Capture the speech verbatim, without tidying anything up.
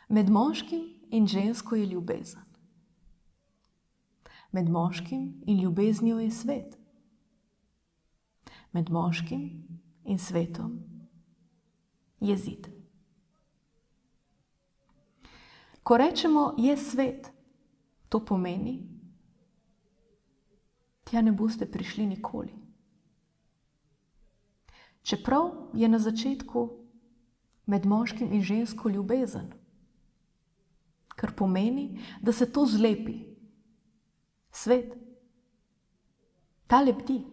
Med moškim in žensko je ljubezen. Med moškim in ljubeznijo je svet. Med moškim in svetom je zid. Ko rečemo je svet, to pomeni, tja ne boste prišli nikoli. Čeprav je na začetku med moškim in žensko ljubezen, kar pomeni, da se to zlepi. Svet, ta lebdi.